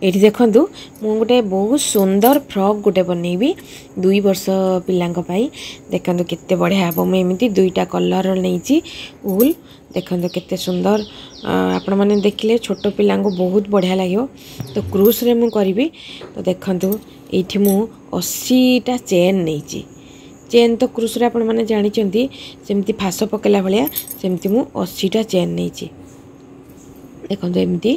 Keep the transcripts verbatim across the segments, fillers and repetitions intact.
ଏଇଠି ଦେଖନ୍ତୁ, ମୁଁ ଗୋଟେ ବହୁତ ସୁନ୍ଦର ଫ୍ରକ୍ ଗୋଟେ ବନେଇବି ଦୁଇ ବର୍ଷ ପିଲାଙ୍କ ପାଇଁ। ଦେଖନ୍ତୁ କେତେ ବଢ଼ିଆ ହେବ। ମୁଁ ଏମିତି ଦୁଇଟା କଲର୍ ନେଇଛି ଉଲ୍। ଦେଖନ୍ତୁ କେତେ ସୁନ୍ଦର, ଆପଣମାନେ ଦେଖିଲେ ଛୋଟ ପିଲାଙ୍କୁ ବହୁତ ବଢ଼ିଆ ଲାଗିବ। ତ କ୍ରୁସ୍ରେ ମୁଁ କରିବି। ତ ଦେଖନ୍ତୁ, ଏଇଠି ମୁଁ ଅଶୀଟା ଚେନ୍ ନେଇଛି। ଚେନ୍ ତ କ୍ରୁସ୍ରେ ଆପଣମାନେ ଜାଣିଛନ୍ତି, ସେମିତି ଫାସ ପକେଇଲା ଭଳିଆ, ସେମିତି ମୁଁ ଅଶୀଟା ଚେନ୍ ନେଇଛି। ଦେଖନ୍ତୁ, ଏମିତି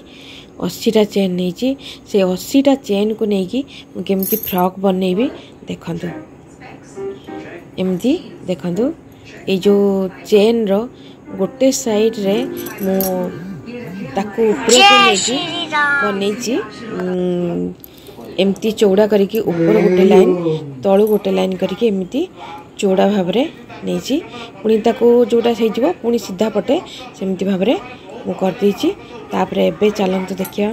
ଅଶୀଟା ଚେନ୍ ନେଇଛି। ସେ ଅଶୀଟା ଚେନ୍କୁ ନେଇକି ମୁଁ କେମିତି ଫ୍ରକ୍ ବନେଇବି ଦେଖନ୍ତୁ। ଏମିତି ଦେଖନ୍ତୁ, ଏଇ ଯେଉଁ ଚେନ୍ର ଗୋଟେ ସାଇଡ଼୍ରେ ମୁଁ ତାକୁ ଉପରକୁ ନେଇକି ବନେଇଛି। ଏମିତି ଚଉଡ଼ା କରିକି ଉପର ଗୋଟେ ଲାଇନ୍, ତଳୁ ଗୋଟେ ଲାଇନ୍ କରିକି ଏମିତି ଚଉଡ଼ା ଭାବରେ ନେଇଛି। ପୁଣି ତାକୁ ଯେଉଁଟା ହେଇଯିବ, ପୁଣି ସିଧା ପଟେ ସେମିତି ଭାବରେ ମୁଁ କରିଦେଇଛି। ତାପରେ ଏବେ ଚାଲନ୍ତୁ ଦେଖିବା,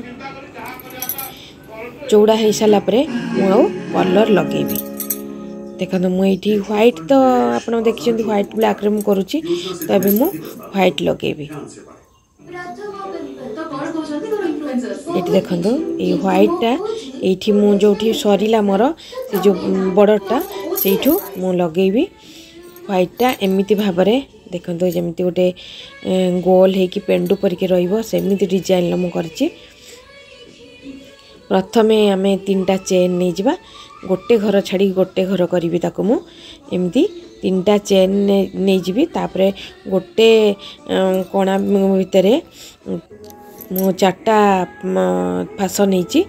ଚଉଡ଼ା ହେଇସାରିଲା ପରେ ମୁଁ ଆଉ କଲର୍ ଲଗେଇବି। ଦେଖନ୍ତୁ, ମୁଁ ଏଇଠି ହ୍ୱାଇଟ୍, ତ ଆପଣ ଦେଖିଛନ୍ତି ହ୍ୱାଇଟ୍ ବ୍ଲାକ୍ରେ ମୁଁ କରୁଛି, ତ ଏବେ ମୁଁ ହ୍ୱାଇଟ୍ ଲଗେଇବି। ଏଇଠି ଦେଖନ୍ତୁ, ଏଇ ହ୍ୱାଇଟ୍ଟା ଏଇଠି ମୁଁ ଯେଉଁଠି ସରିଲା ମୋର ସେ ଯେଉଁ ବର୍ଡ଼ରଟା, ସେଇଠୁ ମୁଁ ଲଗେଇବି ହ୍ୱାଇଟ୍ଟା। ଏମିତି ଭାବରେ ଦେଖନ୍ତୁ, ଯେମିତି ଗୋଟେ ଗୋଲ ହେଇକି ପେଣ୍ଡୁ ପରିକି ରହିବ, ସେମିତି ଡିଜାଇନର ମୁଁ କରିଛି। ପ୍ରଥମେ ଆମେ ତିନିଟା ଚେନ୍ ନେଇଯିବା। ଗୋଟେ ଘର ଛାଡ଼ିକି ଗୋଟେ ଘର କରିବି ତାକୁ। ମୁଁ ଏମିତି ତିନିଟା ଚେନ୍ ନେଇଯିବି। ତାପରେ ଗୋଟେ କଣା ଭିତରେ ମୁଁ ଚାରିଟା ଫାସ ନେଇଛି।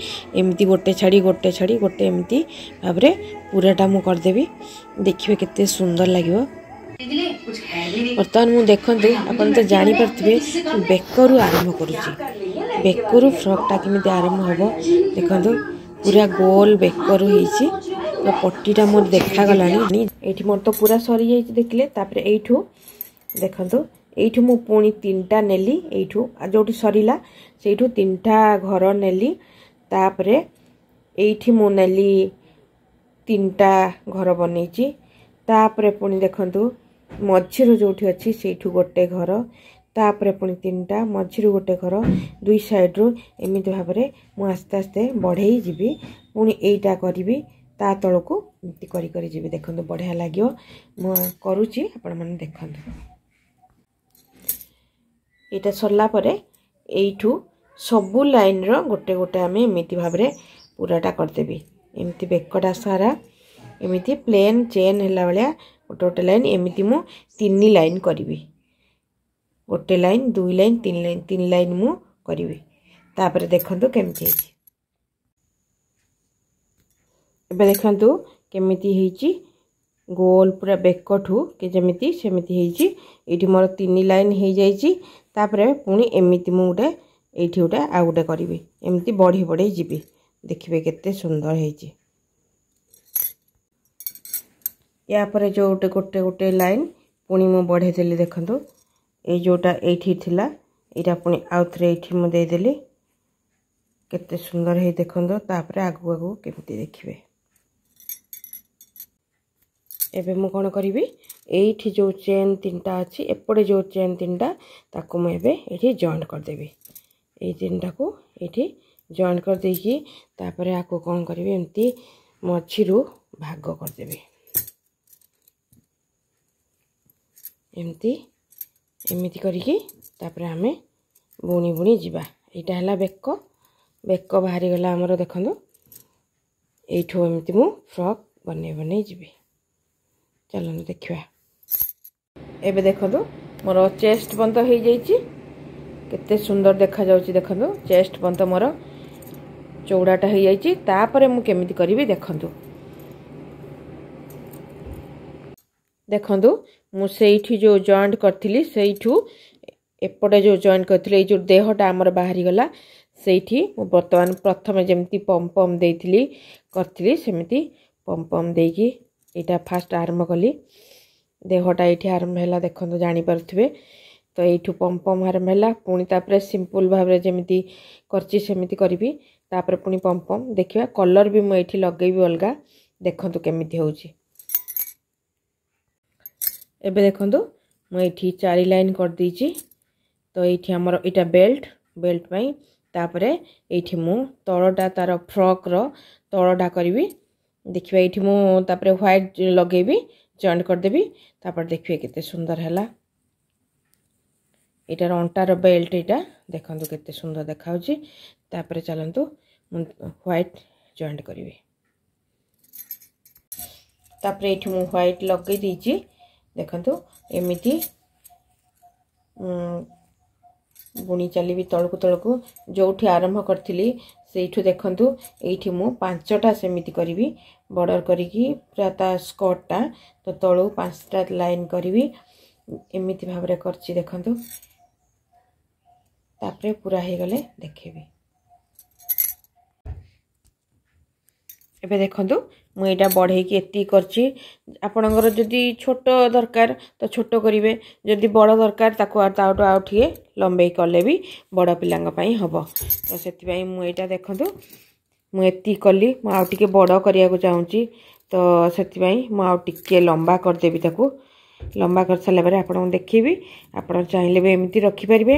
ଏମିତି ଗୋଟେ ଛାଡ଼ି ଗୋଟେ ଛାଡ଼ି ଗୋଟେ, ଏମିତି ଭାବରେ ପୁରାଟା ମୁଁ କରିଦେବି। ଦେଖିବେ କେତେ ସୁନ୍ଦର ଲାଗିବ। ବର୍ତ୍ତମାନ ମୁଁ ଦେଖନ୍ତୁ, ଆପଣ ତ ଜାଣିପାରୁଥିବେ, ମୁଁ ବେକରୁ ଆରମ୍ଭ କରୁଛି। ବେକରୁ ଫ୍ରକ୍ଟା କେମିତି ଆରମ୍ଭ ହେବ ଦେଖନ୍ତୁ। ପୁରା ଗୋଲ ବେକରୁ ହେଇଛି, ତ ପଟିଟା ମୋର ଦେଖାଗଲାଣି। ଏଇଠି ମୋର ତ ପୁରା ସରିଯାଇଛି, ଦେଖିଲେ। ତାପରେ ଏଇଠୁ ଦେଖନ୍ତୁ, ଏଇଠୁ ମୁଁ ପୁଣି ତିନିଟା ନେଲି। ଏଇଠୁ ଯେଉଁଠି ସରିଲା ସେଇଠୁ ତିନିଟା ଘର ନେଲି। ତାପରେ ଏଇଠି ମୁଁ ନେଲି, ତିନିଟା ଘର ବନେଇଛି। ତାପରେ ପୁଣି ଦେଖନ୍ତୁ, ମଝିରୁ ଯେଉଁଠି ଅଛି ସେଇଠୁ ଗୋଟେ ଘର, ତାପରେ ପୁଣି ତିନିଟା, ମଝିରୁ ଗୋଟେ ଘର, ଦୁଇ ସାଇଡ଼ରୁ ଏମିତି ଭାବରେ ମୁଁ ଆସ୍ତେ ଆସ୍ତେ ବଢ଼େଇ ଯିବି। ପୁଣି ଏଇଟା କରିବି, ତା ତଳକୁ ଏମିତି କରି କରି ଯିବି। ଦେଖନ୍ତୁ, ବଢ଼ିଆ ଲାଗିବ। ମୁଁ କରୁଛି, ଆପଣମାନେ ଦେଖନ୍ତୁ। ଏଇଟା ସରିଲା ପରେ ଏଇଠୁ ସବୁ ଲାଇନ୍ର ଗୋଟେ ଗୋଟେ ଆମେ ଏମିତି ଭାବରେ ପୁରାଟା କରିଦେବି। ଏମିତି ବେକଟା ସାରା ଏମିତି ପ୍ଲେନ୍ ଚେନ୍ ହେଲା ଭଳିଆ ଗୋଟେ ଗୋଟେ ଲାଇନ୍, ଏମିତି ମୁଁ ତିନି ଲାଇନ୍ କରିବି। ଗୋଟେ ଲାଇନ୍, ଦୁଇ ଲାଇନ୍, ତିନି ଲାଇନ୍, ତିନି ଲାଇନ୍ ମୁଁ କରିବି। ତାପରେ ଦେଖନ୍ତୁ କେମିତି ହେଇଛି। ଏବେ ଦେଖନ୍ତୁ କେମିତି ହେଇଛି, ଗୋଲ ପୁରା ବେକଠୁ କି ଯେମିତି ସେମିତି ହେଇଛି। ଏଇଠି ମୋର ତିନି ଲାଇନ୍ ହେଇଯାଇଛି। ତାପରେ ପୁଣି ଏମିତି ମୁଁ ଗୋଟେ ଏଇଠି ଗୋଟେ ଆଉ ଗୋଟେ କରିବି। ଏମିତି ବଢ଼ି ବଢ଼େଇ ଯିବି। ଦେଖିବେ କେତେ ସୁନ୍ଦର ହେଇଛି। ୟା ପରେ ଯେଉଁ ଗୋଟେ ଗୋଟେ ଗୋଟେ ଲାଇନ୍ ପୁଣି ମୁଁ ବଢ଼େଇ ଦେଲି। ଦେଖନ୍ତୁ, ଏଇ ଯେଉଁଟା ଏଇଠି ଥିଲା, ଏଇଟା ପୁଣି ଆଉ ଥରେ ଏଇଠି ମୁଁ ଦେଇଦେଲି। କେତେ ସୁନ୍ଦର ହେଇ ଦେଖନ୍ତୁ। ତାପରେ ଆଗକୁ ଆଗକୁ କେମିତି ଦେଖିବେ। ଏବେ ମୁଁ କ'ଣ କରିବି? ଏଇଠି ଯେଉଁ ଚେନ୍ ତିନିଟା ଅଛି, ଏପଟେ ଯେଉଁ ଚେନ୍ ତିନିଟା, ତାକୁ ମୁଁ ଏବେ ଏଇଠି ଜଏଣ୍ଟ କରିଦେବି। ଏଇ ତିନିଟାକୁ ଏଇଠି ଜଏଣ୍ଟ କରିଦେଇକି ତାପରେ ଆକୁ କ'ଣ କରିବି? ଏମିତି ମଝିରୁ ଭାଗ କରିଦେବି। ଏମିତି ଏମିତି କରିକି ତାପରେ ଆମେ ବୁଣି ବୁଣି ଯିବା। ଏଇଟା ହେଲା ବେକ। ବେକ ବାହାରିଗଲା ଆମର। ଦେଖନ୍ତୁ, ଏଇଠୁ ଏମିତି ମୁଁ ଫ୍ରକ୍ ବନେଇ ବନେଇ ଯିବି। ଚାଲନ୍ତୁ ଦେଖିବା। ଏବେ ଦେଖନ୍ତୁ, ମୋର ଚେଷ୍ଟ ବନ୍ଦ ହେଇଯାଇଛି। କେତେ ସୁନ୍ଦର ଦେଖାଯାଉଛି ଦେଖନ୍ତୁ। ଚେଷ୍ଟ ବନ୍ଦ ମୋର ଚଉଡ଼ାଟା ହେଇଯାଇଛି। ତାପରେ ମୁଁ କେମିତି କରିବି ଦେଖନ୍ତୁ। ଦେଖନ୍ତୁ, ମୁଁ ସେଇଠି ଯେଉଁ ଜଏଣ୍ଟ କରିଥିଲି, ସେଇଠୁ ଏପଟେ ଯେଉଁ ଜଏଣ୍ଟ କରିଥିଲି, ଏଇ ଯେଉଁ ଦେହଟା ଆମର ବାହାରିଗଲା, ସେଇଠି ମୁଁ ବର୍ତ୍ତମାନ ପ୍ରଥମେ ଯେମିତି ପମ୍ ପମ୍ ଦେଇଥିଲି କରିଥିଲି, ସେମିତି ପମ୍ ପମ୍ ଦେଇକି ଏଇଟା ଫାଷ୍ଟ ଆରମ୍ଭ କଲି। ଦେହଟା ଏଇଠି ଆରମ୍ଭ ହେଲା, ଦେଖନ୍ତୁ ଜାଣିପାରୁଥିବେ ତ। ଏଇଠୁ ପମ୍ ପମ୍ ଆରମ୍ଭ ହେଲା। ପୁଣି ତାପରେ ସିମ୍ପଲ୍ ଭାବରେ ଯେମିତି କରିଛି ସେମିତି କରିବି। ତାପରେ ପୁଣି ପମ୍ ପମ୍ ଦେଖିବା। କଲର୍ ବି ମୁଁ ଏଇଠି ଲଗେଇବି ଅଲଗା। ଦେଖନ୍ତୁ କେମିତି ହେଉଛି। ଏବେ ଦେଖନ୍ତୁ, ମୁଁ ଏଇଠି ଚାରି ଲାଇନ୍ କରିଦେଇଛି। ତ ଏଇଠି ଆମର ଏଇଟା ବେଲ୍ଟ, ବେଲ୍ଟ ପାଇଁ ତାପରେ ଏଇଠି ମୁଁ ତଳଟା ତାର ଫ୍ରକ୍ର ତଳଟା କରିବି। ଦେଖିବା, ଏଇଠି ମୁଁ ତାପରେ ହ୍ୱାଇଟ୍ ଲଗେଇବି, ଜଏଣ୍ଟ କରିଦେବି। ତାପରେ ଦେଖିବେ କେତେ ସୁନ୍ଦର ହେଲା। ଏଇଟାର ଅଣ୍ଟାର ବେଲ୍ଟ ଏଇଟା ଦେଖନ୍ତୁ କେତେ ସୁନ୍ଦର ଦେଖାହେଉଛି। ତାପରେ ଚାଲନ୍ତୁ, ମୁଁ ହ୍ୱାଇଟ୍ ଜଏଣ୍ଟ କରିବି। ତାପରେ ଏଇଠି ମୁଁ ହ୍ୱାଇଟ୍ ଲଗେଇ ଦେଇଛି। ଦେଖନ୍ତୁ, ଏମିତି ବୁଣି ଚାଲିବି ତଳକୁ ତଳକୁ, ଯେଉଁଠି ଆରମ୍ଭ କରିଥିଲି ସେଇଠୁ। ଦେଖନ୍ତୁ, ଏଇଠି ମୁଁ ପାଞ୍ଚଟା ସେମିତି କରିବି ବର୍ଡ଼ର କରିକି ପୁରା ତା ସ୍କର୍ଟଟା। ତ ତଳୁ ପାଞ୍ଚଟା ଲାଇନ୍ କରିବି, ଏମିତି ଭାବରେ କରିଛି ଦେଖନ୍ତୁ। ତାପରେ ପୁରା ହେଇଗଲେ ଦେଖେଇବି। ଏବେ ଦେଖନ୍ତୁ, ମୁଁ ଏଇଟା ବଢ଼େଇକି ଏତିକି କରିଛି। ଆପଣଙ୍କର ଯଦି ଛୋଟ ଦରକାର ତ ଛୋଟ କରିବେ, ଯଦି ବଡ଼ ଦରକାର ତାକୁ ତାଠୁ ଆଉ ଟିକେ ଲମ୍ବେଇ କଲେ ବି ବଡ଼ ପିଲାଙ୍କ ପାଇଁ ହେବ। ତ ସେଥିପାଇଁ ମୁଁ ଏଇଟା ଦେଖନ୍ତୁ, ମୁଁ ଏତିକି କଲି। ମୁଁ ଆଉ ଟିକେ ବଡ଼ କରିବାକୁ ଚାହୁଁଛି, ତ ସେଥିପାଇଁ ମୁଁ ଆଉ ଟିକେ ଲମ୍ବା କରିଦେବି ତାକୁ। ଲମ୍ବା କରିସାରିଲା ପରେ ଆପଣଙ୍କୁ ଦେଖେଇବି। ଆପଣ ଚାହିଁଲେ ବି ଏମିତି ରଖିପାରିବେ।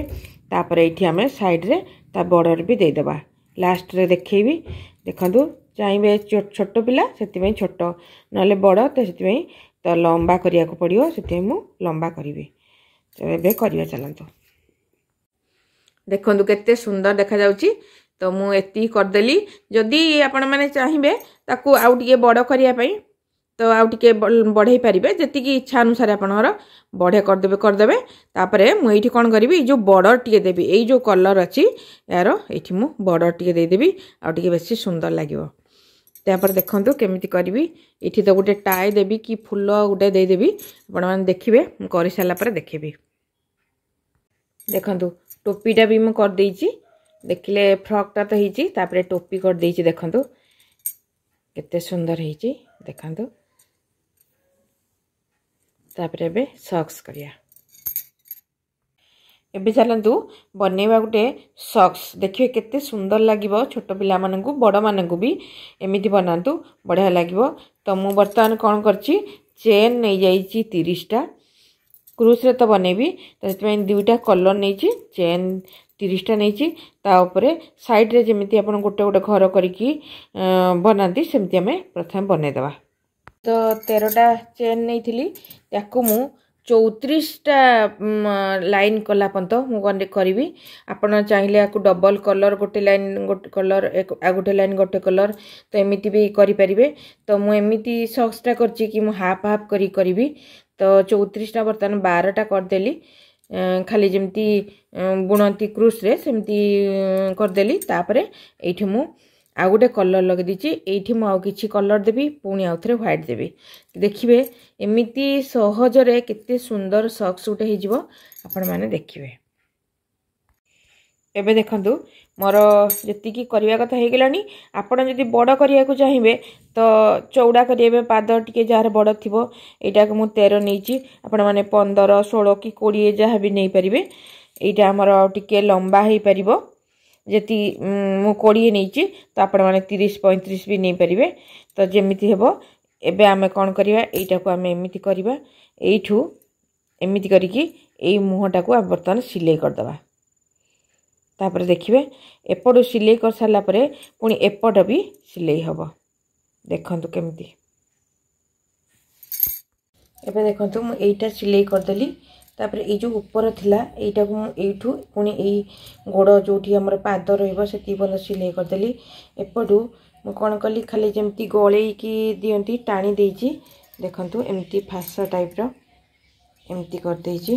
ତାପରେ ଏଇଠି ଆମେ ସାଇଡ଼୍ରେ ତା ବର୍ଡ଼ର ବି ଦେଇଦେବା, ଲାଷ୍ଟରେ ଦେଖେଇବି। ଦେଖନ୍ତୁ, ଚାହିଁବେ ଛୋଟ ପିଲା ସେଥିପାଇଁ ଛୋଟ, ନହେଲେ ବଡ଼ ତ ସେଥିପାଇଁ ତ ଲମ୍ବା କରିବାକୁ ପଡ଼ିବ, ସେଥିପାଇଁ ମୁଁ ଲମ୍ବା କରିବି। ତ ଏବେ କରିବା ଚାଲନ୍ତୁ। ଦେଖନ୍ତୁ କେତେ ସୁନ୍ଦର ଦେଖାଯାଉଛି। ତ ମୁଁ ଏତିକି କରିଦେଲି। ଯଦି ଆପଣମାନେ ଚାହିଁବେ ତାକୁ ଆଉ ଟିକେ ବଡ଼ କରିବା ପାଇଁ, ତ ଆଉ ଟିକେ ବଢ଼େଇ ପାରିବେ। ଯେତିକି ଇଚ୍ଛା ଅନୁସାରେ ଆପଣଙ୍କର ବଢ଼େ କରିଦେବେ କରିଦେବେ। ତାପରେ ମୁଁ ଏଇଠି କ'ଣ କରିବି? ଏଇ ଯେଉଁ ବର୍ଡ଼ର ଟିକେ ଦେବି, ଏଇ ଯେଉଁ କଲର୍ ଅଛି ଏହାର, ଏଇଠି ମୁଁ ବର୍ଡ଼ର ଟିକେ ଦେଇଦେବି, ଆଉ ଟିକେ ବେଶୀ ସୁନ୍ଦର ଲାଗିବ। ତାପରେ ଦେଖନ୍ତୁ କେମିତି କରିବି। ଏଇଠି ତ ଗୋଟେ ଟାଏ ଦେବି କି ଫୁଲ ଗୋଟେ ଦେଇଦେବି, ଆପଣମାନେ ଦେଖିବେ। ମୁଁ କରିସାରିଲା ପରେ ଦେଖିବି। ଦେଖନ୍ତୁ, ଟୋପିଟା ବି ମୁଁ କରିଦେଇଛି। ଦେଖିଲେ, ଫ୍ରକ୍ଟା ତ ହେଇଛି, ତାପରେ ଟୋପି କରିଦେଇଛି। ଦେଖନ୍ତୁ କେତେ ସୁନ୍ଦର ହେଇଛି, ଦେଖନ୍ତୁ। ତାପରେ ଏବେ ସକ୍ସ କରିବା। ଏବେ ଚାଲନ୍ତୁ ବନେଇବା ଗୋଟେ ସକ୍ସ। ଦେଖିବେ କେତେ ସୁନ୍ଦର ଲାଗିବ ଛୋଟ ପିଲାମାନଙ୍କୁ, ବଡ଼ମାନଙ୍କୁ ବି ଏମିତି ବନାନ୍ତୁ, ବଢ଼ିଆ ଲାଗିବ। ତ ମୁଁ ବର୍ତ୍ତମାନ କ'ଣ କରିଛି? ଚେନ୍ ନେଇଯାଇଛି ତିରିଶଟା। କ୍ରୁସ୍ରେ ତ ବନେଇବି, ତ ସେଥିପାଇଁ ଦୁଇଟା କଲର୍ ନେଇଛି। ଚେନ୍ ତିରିଶଟା ନେଇଛି। ତା ଉପରେ ସାଇଡ଼୍ରେ ଯେମିତି ଆପଣ ଗୋଟେ ଗୋଟେ ଘର କରିକି ବନାନ୍ତି, ସେମିତି ଆମେ ପ୍ରଥମେ ବନେଇଦେବା। ତ ତେରଟା ଚେନ୍ ନେଇଥିଲି, ତାକୁ ମୁଁ ଚଉତିରିଶଟା ଲାଇନ୍ କଲା ପର୍ଯ୍ୟନ୍ତ ମୁଁ କରିବି। ଆପଣ ଚାହିଁଲେ ୟାକୁ ଡବଲ୍ କଲର୍, ଗୋଟେ ଲାଇନ୍ ଗୋଟେ କଲର୍, ଆଉ ଗୋଟେ ଲାଇନ୍ ଗୋଟେ କଲର୍, ତ ଏମିତି ବି କରିପାରିବେ। ତ ମୁଁ ଏମିତି ସକ୍ସଟା କରିଛି କି ମୁଁ ହାଫ୍ ହାଫ୍ କରି କରିବି। ତ ଚଉତିରିଶଟା ବର୍ତ୍ତମାନ ବାରଟା କରିଦେଲି, ଖାଲି ଯେମିତି ବୁଣନ୍ତି କ୍ରୁସ୍ରେ ସେମିତି କରିଦେଲି। ତାପରେ ଏଇଠି ମୁଁ ଆଉ ଗୋଟେ କଲର୍ ଲଗେଇ ଦେଇଛି। ଏଇଠି ମୁଁ ଆଉ କିଛି କଲର୍ ଦେବି, ପୁଣି ଆଉ ଥରେ ହ୍ୱାଇଟ୍ ଦେବି। ଦେଖିବେ, ଏମିତି ସହଜରେ କେତେ ସୁନ୍ଦର ସକ୍ସ ଗୋଟେ ହେଇଯିବ, ଆପଣମାନେ ଦେଖିବେ। ଏବେ ଦେଖନ୍ତୁ, ମୋର ଯେତିକି କରିବା କଥା ହେଇଗଲାଣି। ଆପଣ ଯଦି ବଡ଼ କରିବାକୁ ଚାହିଁବେ ତ ଚଉଡ଼ା କରିବେ, ପାଦ ଟିକେ ଯାହାର ବଡ଼ ଥିବ। ଏଇଟାକୁ ମୁଁ ତେର ନେଇଛି, ଆପଣମାନେ ପନ୍ଦର, ଷୋହଳ କି କୋଡ଼ିଏ ଯାହା ବି ନେଇପାରିବେ। ଏଇଟା ଆମର ଟିକେ ଲମ୍ବା ହେଇପାରିବ। ଯେତିକି ମୁଁ କୋଡ଼ିଏ ନେଇଛି, ତ ଆପଣମାନେ ତିରିଶ ପଇଁତିରିଶ ବି ନେଇପାରିବେ। ତ ଯେମିତି ହେବ, ଏବେ ଆମେ କ'ଣ କରିବା? ଏଇଟାକୁ ଆମେ ଏମିତି କରିବା, ଏଇଠୁ ଏମିତି କରିକି ଏଇ ମୁହଁଟାକୁ ଆମେ ବର୍ତ୍ତମାନ ସିଲେଇ କରିଦେବା। ତାପରେ ଦେଖିବେ, ଏପଟୁ ସିଲେଇ କରିସାରିଲା ପରେ ପୁଣି ଏପଟ ବି ସିଲେଇ ହେବ। ଦେଖନ୍ତୁ କେମିତି। ଏବେ ଦେଖନ୍ତୁ, ମୁଁ ଏଇଟା ସିଲେଇ କରିଦେଲି। ତାପରେ ଏଇ ଯେଉଁ ଉପର ଥିଲା, ଏଇଟାକୁ ମୁଁ ଏଇଠୁ ପୁଣି ଏଇ ଗୋଡ଼ ଯେଉଁଠି ଆମର ପାଦ ରହିବ ସେତିକି ପର୍ଯ୍ୟନ୍ତ ସିଲେଇ କରିଦେଲି। ଏପଟୁ ମୁଁ କ'ଣ କଲି? ଖାଲି ଯେମିତି ଗଳେଇକି ଦିଅନ୍ତି, ଟାଣି ଦେଇଛି। ଦେଖନ୍ତୁ, ଏମିତି ଫାସ ଟାଇପ୍ର ଏମିତି କରିଦେଇଛି।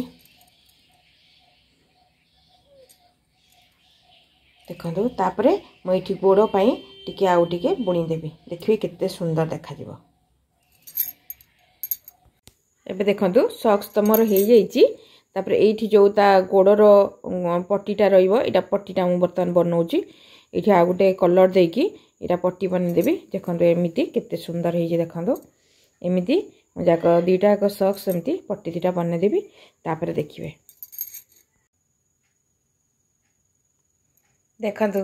ଦେଖନ୍ତୁ, ତାପରେ ମୁଁ ଏଇଠି ଗୋଡ଼ ପାଇଁ ଟିକେ ଆଉ ଟିକେ ବୁଣିଦେବି। ଦେଖିବେ କେତେ ସୁନ୍ଦର ଦେଖାଯିବ। ଏବେ ଦେଖନ୍ତୁ, ସକ୍ସ ତ ମୋର ହେଇଯାଇଛି। ତାପରେ ଏଇଠି ଯେଉଁ ତା ଗୋଡ଼ର ପଟିଟା ରହିବ, ଏଇଟା ପଟିଟା ମୁଁ ବର୍ତ୍ତମାନ ବନଉଛି। ଏଇଠି ଆଉ ଗୋଟେ କଲର୍ ଦେଇକି ଏଇଟା ପଟି ବନେଇଦେବି। ଦେଖନ୍ତୁ, ଏମିତି କେତେ ସୁନ୍ଦର ହେଇଛି। ଦେଖନ୍ତୁ, ଏମିତି ମୁଁ ଯାକ ଦୁଇଟା ଯାକ ସକ୍ସ ଏମିତି ପଟି ଦୁଇଟା ବନେଇଦେବି, ତାପରେ ଦେଖିବେ। ଦେଖନ୍ତୁ,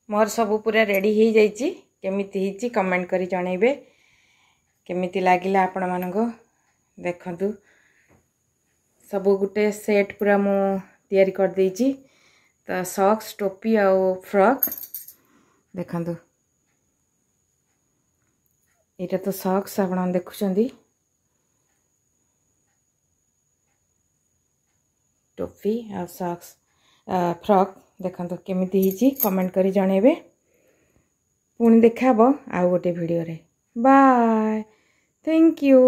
ମୋର ସବୁ ପୁରା ରେଡ଼ି ହେଇଯାଇଛି। କେମିତି ହେଇଛି କମେଣ୍ଟ କରି ଜଣାଇବେ, କେମିତି ଲାଗିଲା ଆପଣମାନଙ୍କୁ। ଦେଖନ୍ତୁ, ସବୁ ଗୋଟେ ସେଟ୍ ପୁରା ମୁଁ ତିଆରି କରିଦେଇଛି। ତ ସକ୍ସ, ଟୋପି ଆଉ ଫ୍ରକ୍। ଦେଖନ୍ତୁ, ଏଇଟା ତ ସକ୍ସ ଆପଣ ଦେଖୁଛନ୍ତି, ଟୋପି ଆଉ ସକ୍ସ, ଫ୍ରକ୍। ଦେଖନ୍ତୁ କେମିତି ହେଇଛି, କମେଣ୍ଟ କରି ଜଣେଇବେ। ପୁଣି ଦେଖାହବ ଆଉ ଗୋଟେ ଭିଡ଼ିଓରେ। Bye, thank you.